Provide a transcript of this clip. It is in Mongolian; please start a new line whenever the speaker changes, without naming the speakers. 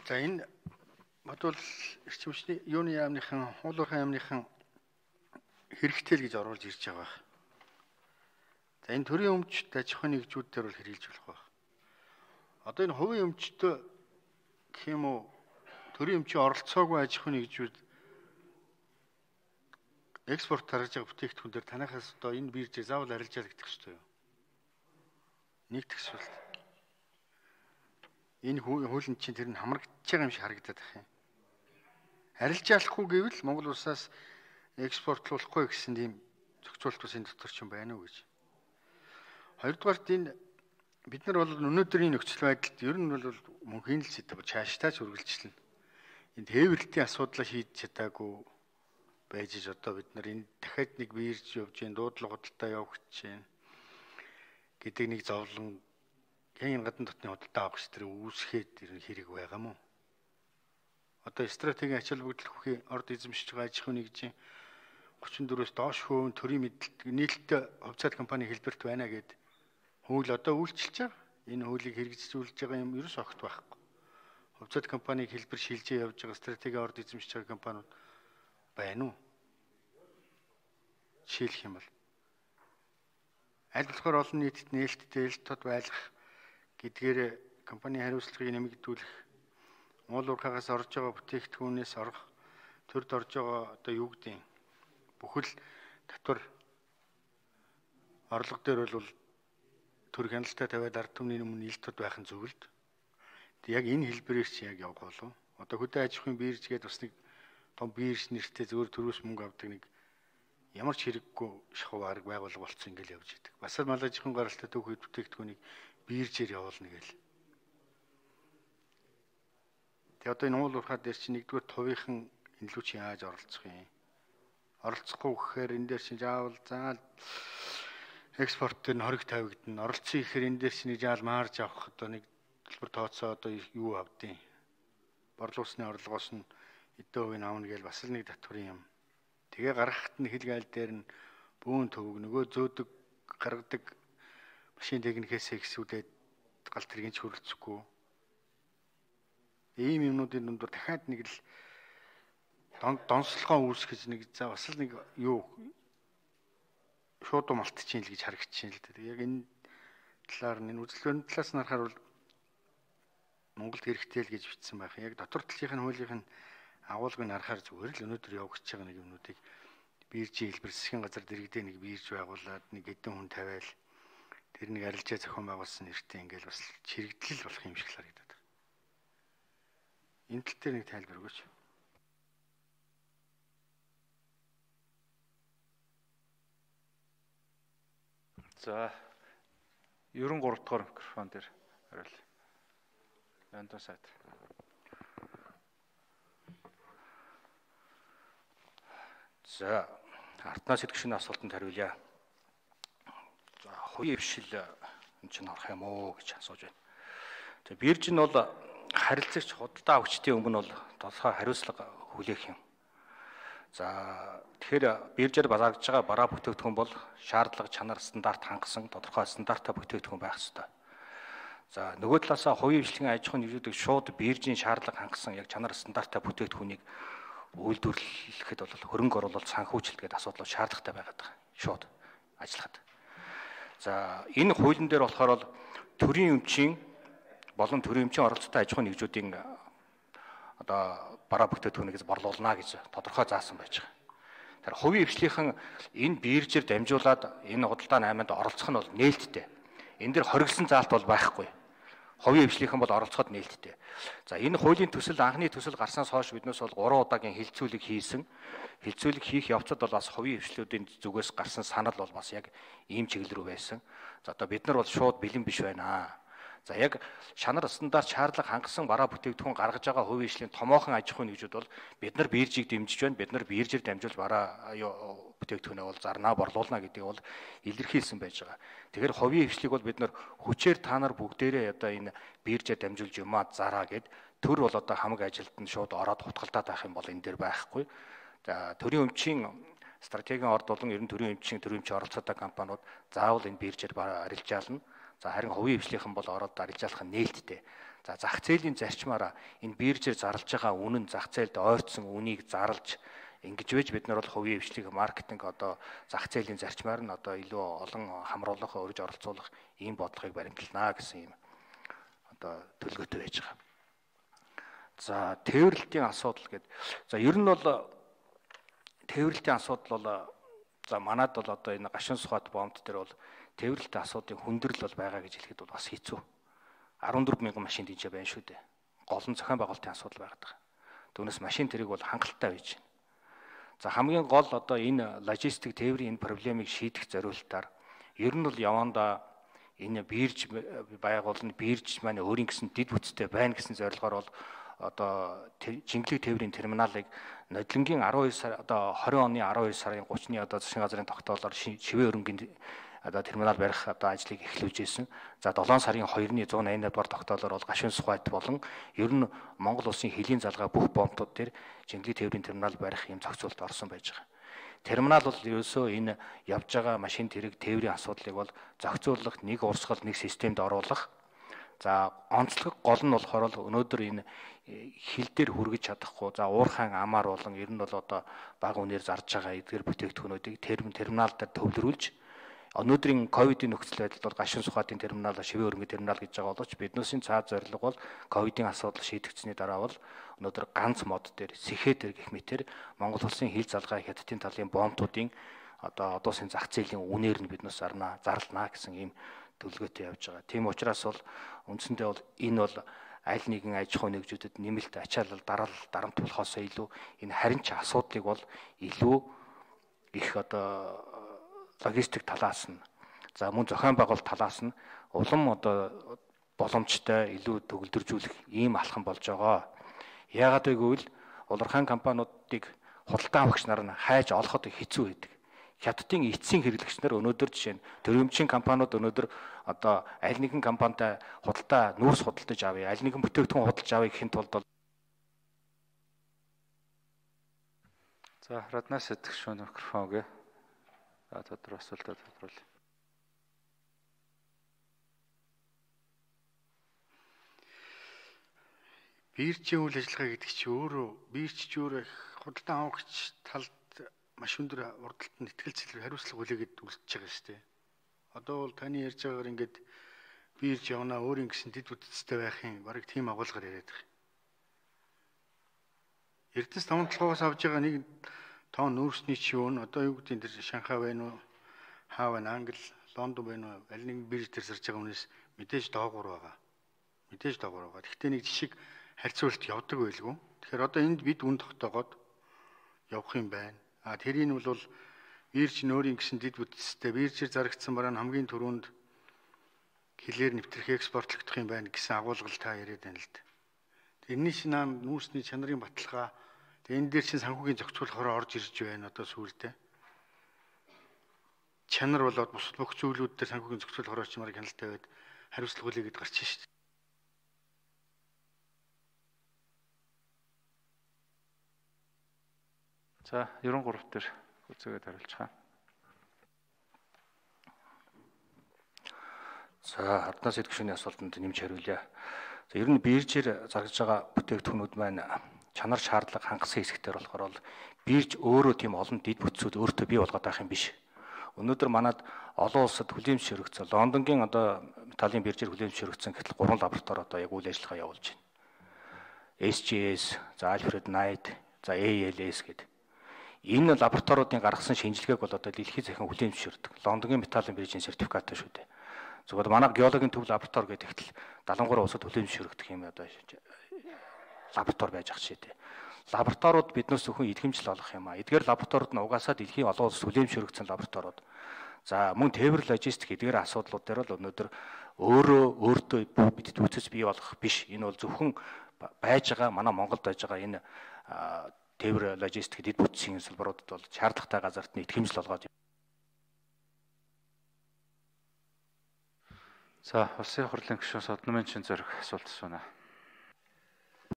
За энэ бодвол эрчимчний юуны яамныхан, уулуурхайн яамныхан хэрэгтэй л гэж оруулж ирж байгаа. За энэ төрийн өмчт аж ахуйн нэгжүүд дээр бол хэрэгжилж болох байх. Одоо энэ хувийн өмчтөө гэх юм уу төрийн өмчийн оролцоогүй аж ахуйн нэгжүүд экспорт тарж байгаа бүтээгдэхүүн дээр танахаас одоо энэ биржээр заавал арилжаал гэдэг хэвчтэй юу? Нэг тэгсвэл энэ хуулийн чинь тэр нь хамрагдж байгаа юм шиг харагдаад байна юм. Арилжаалахгүй гэвэл Монгол улсаас экспортлуулахгүй гэсэн тийм зохицуулт бас энэ дотор ч юм байна уу гэж. Хоёрдугаарт энэ бид нар бол өнөөдрийн нөхцөл байдалд ер нь бол мөнхийн л зэт чааштай ч үргэлжлэнэ. Энэ тээвэрлтийн асуудлаа шийдэж чадаагүй байж одоо бид нар энэ дахиад нэг бирж явж гин дуудлага худалдаа явах гэж байна гэдэг нэг зовлон энэ гадна дотны худалдаа авах гэж тэр үүсгээд тэр хэрэг байгаа мó. Одоо стратегийн ач холбогдол бүхий орд эзэмшиж байгаа аж ахуйн нэгжийн 34-өөс доош хувийн төрийн мэдээлэл нийлэлт хувьцаат компани хэлбэрт байна гэд хууль одоо үйлчилж байгаа. Энэ хуулийг хэрэгжүүлж байгаа юм ерөөс огт байхгүй. Хувьцаат компаниг хэлбэр шилжээ явж байгаа стратегийн орд эзэмшиж байгаа компаниуд байна уу? Жишээлх юм бол аль болохоор олон нийтэд нээлттэй ил тод байлгах гэдгээр компанийн хариуцлагыг нэмэгдүүлэх, уулуурхаагаас орж байгаа бүтээгдэхүүнээс орох, төрд орж байгаа одоо юу гэдэг юм бүхэл татвар орлого дээр бол төр хяналтаа тавиад ард түмний өмнө ил тод байх нь зөвлөд. Яг энэ хэлбэрээр чи яг явах болов. Одоо хөдөө аж ахуйн бирж гэдэг бас нэг том бирж нэртэй зөвөр төрөөс мөнгө авдаг нэг ямар ч хэрэггүй шахуу арга байгуулга болцсон ингээл явж идэг. Бас л мал аж ахуйн гаралтай төвхөд бүтээгдэхүүнийг биржээр явуулна гээл. Тэгээ одоо энэ уулуурхаа дээр чи нэгдүгээр тувынхан энэ лүү чи яаж оролцох юм? Оролцохгүй гэхээр энэ дээр чи заавал заал экспорт дээр нь хориг тавигдана. Оролцсон гэхээр энэ дээр чи нэг заал марж авах одоо нэг төлбөр тооцоо одоо юу авдیں۔ Борлуулсны орлогоос нь эдэн хувийг авна гээл бас л нэг татварын юм. Тэгээ гаргахад нь хэлгээл дээр нь бүүн төвөг нөгөө зөөдөг гаргадаг машин техникээс ихсүүлээд галт тэргийн ч хөрөлцөхгүй. Ийм юмнуудын дундор дахиад нэг л донслогоо үүсгэж нэг за бас л нэг юу шууд малтчихин л гэж харагдчихээн л дээ. Яг энэ талаар нь энэ үзэлбэрийн талаас нь харахаар бол Монголд хэрэгтэй л гэж бичсэн байх. Яг дотор талынх нь хуулийнх нь агуулгыг харахаар зүгээр л өнөөдөр явагдаж байгаа нэг юмнуудыг биржийн хэлбэр засгийн газар дэргэдээ нэг бирж байгуулад нэг хэдэн хүн тавиал тэр нэг арилжаа зохион байгуулсан нэртэй ингээл бас чирэгдэл болох юм шиг л харагдаад байна. Энэ тал дээр нэг тайлбар өгөөч.
За 93 дугаар микрофон дээр хариул. Янтан сайд. За артнаас идэвхшин асуултанд хариулъя. За хувийн хвшил энэ чинь харах юм уу гэж асууж байна. За бирж нь бол харилцагч худалдаа авагчдын өмнө бол тодорхой хариуцлага хүлээх юм. За тэгэхээр биржээр базаардж байгаа бараа бүтээгдэхүүн бол шаардлага, чанар, стандарт хангасан тодорхой стандарттай бүтээгдэхүүн байх ёстой. За нөгөө талаасаа хувийн хвшлийн аж ахуйн нэгжүүдийг шууд биржийн шаардлага хангасан яг чанар, стандарттай бүтээгдэхүүнийг үйлдвэрлэхэд бол хөрөнгө оруулалт санхүүжилт гэдэг асуудал шаардлагатай байгаад байгаа. Шууд ажиллахад. За энэ хуулийн дээр болохоор бол төрийн өмчийн болон төрийн өмчийн оролцоотой аж ахуйн нэгжүүдийн одоо бараа бүтээгдэхүүнээс борлуулна гэж тодорхой заасан байж байгаа. Тэр хувийн хвшлийнхэн энэ биржээр дамжуулаад энэ худалдаа найманд оролцох нь бол нээлттэй. Энэ дэр хоригдсан заалт бол байхгүй. Хувийн хвшлийнхэн бол оролцоход нээлттэй. За энэ хуулийн төсөл анхны төсөл гарснаас хойш биднээс бол 3 удаагийн хилцүүлэг хийсэн. Хилцүүлэг хийх явцад бол бас хувийн хвшлүүдийн зүгээс гарсан санал бол бас яг ийм чиглэл рүү байсан. За одоо бид нар бол шууд бэлэн биш байна. За яг шанар стандарт шаардлага хангасан бараа бүтээгдэхүүн гаргаж байгаа хувийн хвшлийн томоохон аж ахуйн нэгжүүд бол бид нар биржийг дэмжиж байна. Бид нар биржээр дамжуул бараа бүтээгдэхүүнээ бол зарнаа борлуулна гэдгийг бол илэрхийлсэн байж байгаа. Тэгэхээр хувийн хвшлийг бол бид нар хүчээр та нар бүгдээрээ одоо энэ биржээр дамжуулж юмаа зараа гэд төр бол одоо хамаг ажилтанд шууд ороод хутгалдаад байх юм бол энэ дээр байхгүй. За төрийн өмчийн стратегийн орд болон ер нь төрийн өмчийн оролцоотой компаниуд заавал энэ биржээр арилжаална. За харин хувийн хвшлийнхэн бол ороод арилжаалах нь нээлттэй. За зах зээлийн зарчмаараа энэ биржээр зарлж байгаа үнэн зах зээлд ойртсон үнийг зарлж ингэж байж бид нар бол хувийн хвшлиг маркетинг одоо зах зээлийн зарчмаар нь одоо илүү олон хамруулах, өргөж оролцуулах ийм бодлогыг баримталнаа гэсэн юм одоо төлөвлөгөөтэй байж байгаа. За тээвэрлэлтийн асуудал гэдэг. За ер нь бол тээвэрлэлтийн асуудал бол за манад бол одоо энэ гашуун сухад бомб дээр бол тээвэрлэлтийн асуудлын хүндрэл бол байгаа гэж хэлэхэд бол бас хэцүү. 14,000 машин дижээ байна шүү дээ. Гол нь зохион байгуулалтын асуудал байгаа. Түүнээс машин тэрэг бол хангалттай байж байна. За хамгийн гол одоо энэ логистик тээврийн энэ проблемыг шийдэх зорилтоор ер нь бол явандаа энэ бирж байгуулна, бирж маань өөрийн гэсэн дид бүтцтэй байна гэсэн зорилгоор бол одоо жинглэг тээврийн терминалыг нодлонгийн 12 сар одоо 20 оны 12 сарын 30-ны одоо засгийн газрын тогтоолоор шивээ өрнгийн одоо терминал барих одоо ажлыг эхлүүлж ирсэн. За 7 сарын 2-ны 180 дугаар тогтоолоор бол гашуун сухайд болон ер нь Монгол улсын хөлийн залгаа бүх бомбууд дээр жинглэг тээврийн терминал барих юм зохицуулт орсон байж байгаа. Терминал бол ерөөсөө энэ явж байгаа машин тэрэг тээврийн асуудлыг бол зохицуулах, нэг урсгал, нэг системд оруулах. За онцлог гол нь болохоор өнөөдөр энэ хил дээр хүргэж чадахгүй. За уурхайн амаар болон ер нь бол одоо бага үнээр зарж байгаа эдгээр бүтээгдэхүүнүүдийг терминал дээр төвлөрүүлж өнөөдрийн ковидын нөхцөл байдалд бол гашуун сухатын терминал, шивээ өрнгийн терминал гэж байгаа боловч биднээсийн цаад зорилго бол ковидын асуудал шийдэгдсэний дараа бол өнөөдөр ганц мод дээр сэхээ дээр гэх мэтэр Монгол улсын хил залгаа хятадын талын бомбуудын одоо одоосын зах зээлийн үнээр нь биднээс зарлана гэсэн ийм төлөвлөгөөтэй явж байгаа. Тийм учраас бол үндсэндээ бол энэ бол аль нэгэн аж ахуйн нэгжүүдэд нэмэлт ачаалал дарамт болохоос илүү энэ харин ч асуудлыг бол илүү их одоо логистик талаас нь за мөн зохион байгуулалт талаас нь улам одоо боломжтой илүү төгөлдржүүлэх ийм алхам болж байгаа. Яагаад гэвэл улирхан компаниудыг худалдан авагч нар нь хайж олоход хэцүү байдаг. Хятадын эцсийн хэрэглэгч нар өнөөдөр жишээ нь төрөмчийн компаниуд өнөөдөр одоо аль нэгэн компанитай нүүрс худалдаж авъя, аль нэгэн бүтээгдэхүүн худалдаж авъя гэхин тулд
за раднаас идэх шүү микрофон өгье. Тодор асуултаа тодруулъя.
Биржийн үйл ажиллагаа гэдэг чинь өөрөө биржч өөрөө худалдан авагч талд маш өндөр урдталт итгэл зэлээр хариуцлага хүлээгээд үлдчихэж байгаа шүү дээ. Одоо бол таны ярьж байгаагаар ингээд бирж явна өөрийн гэсэн дэд бүтцтэй байхын бараг тийм агуулгаар яриад байгаа. Эрдэнэс 5-7-оос авж байгаа нэг тоон нүүрсний чивүүн одоо юу гэдэг нь тэр Шанхай байна уу, хаа байна, Англи, Лондон байна уу, аль нэгэн бирж дээр зарж байгаа хүнээс мэдээж доогуур байгаа. Гэхдээ нэг жишг харьцуулт явдаг байлгүй. Тэгэхээр одоо энд бид үн тогтоогоод явах юм байна. Тэрийг нь бол бирж нөөрийн гэсэн дэд бүтцтэй биржээр зарагдсан бараа нь хамгийн түрүүнд хилээр нэвтрэх экспортлогдох юм байна гэсэн агуулгал та яриад байна л да. Тэрний шинэ нүүрсний чанарын баталгаа энэ дээр чинь санхүүгийн зохицуулахаар орж ирж байна одоо сүүлдээ. Чанар болоод бусад бүх зүйлүүд дээр санхүүгийн зохицуулахаар ч марыг хяналттай байд хариуцлага хүлээгээд гарч шээ шүү дээ.
За 93 дээр үзээгээд хариулцгаая.
За харднаас идэвхшний асуултанд нэмж хариулъя. За ер нь биржээр зарж байгаа бүтээгдэхүүнүүд маань чанар шаардлага хангасан хэсэгтэр болохоор бол бирж өөрөө тийм олон дэд бүтцүүд өөртөө бий болгоод байх юм биш. Өнөөдөр манад олон улсад хүлээмжшөрөгцсөн Лондонгийн одоо металлын биржээр хүлээмжшөрөгцсөн гэтэл 3 лаборатори одоо яг үйл ажиллагаа явуулж байна. SGS, за Alfred Knight, за ALS гэдэг. Энэ лабораториудын гаргасан шинжилгээг бол одоо дэлхийн захин хүлээмжшөрдөг. Лондонгийн металлын биржийн сертификаттай шүү дээ. Зөвхөн манай геологийн төв лаборатори гэдэгт 73 улсад хүлээмжшөрөгдөх юм одоо лаборатори байж ах шээ дээ. Лабораториуд биднээс зөвхөн идэвхжил олох юм аа. Эдгээр лабораториуд нь угаасаа дэлхийн олон улсад хүлээмжшөрөгдсөн лабораториуд. За мөн тээвэр логистик эдгээр асуудлууд дээр бол өнөөдөр өөртөө бид үүсэж бий болох биш. Энэ бол зөвхөн байж байгаа манай Монголд байж байгаа энэ тээвэр логистик дэд бүтцийн салбаруудад бол шаардлагатай газарт нь идэвхжил олгоод.
За улсын хурлын гишүүн Содномын чин зориг асуулт асууна.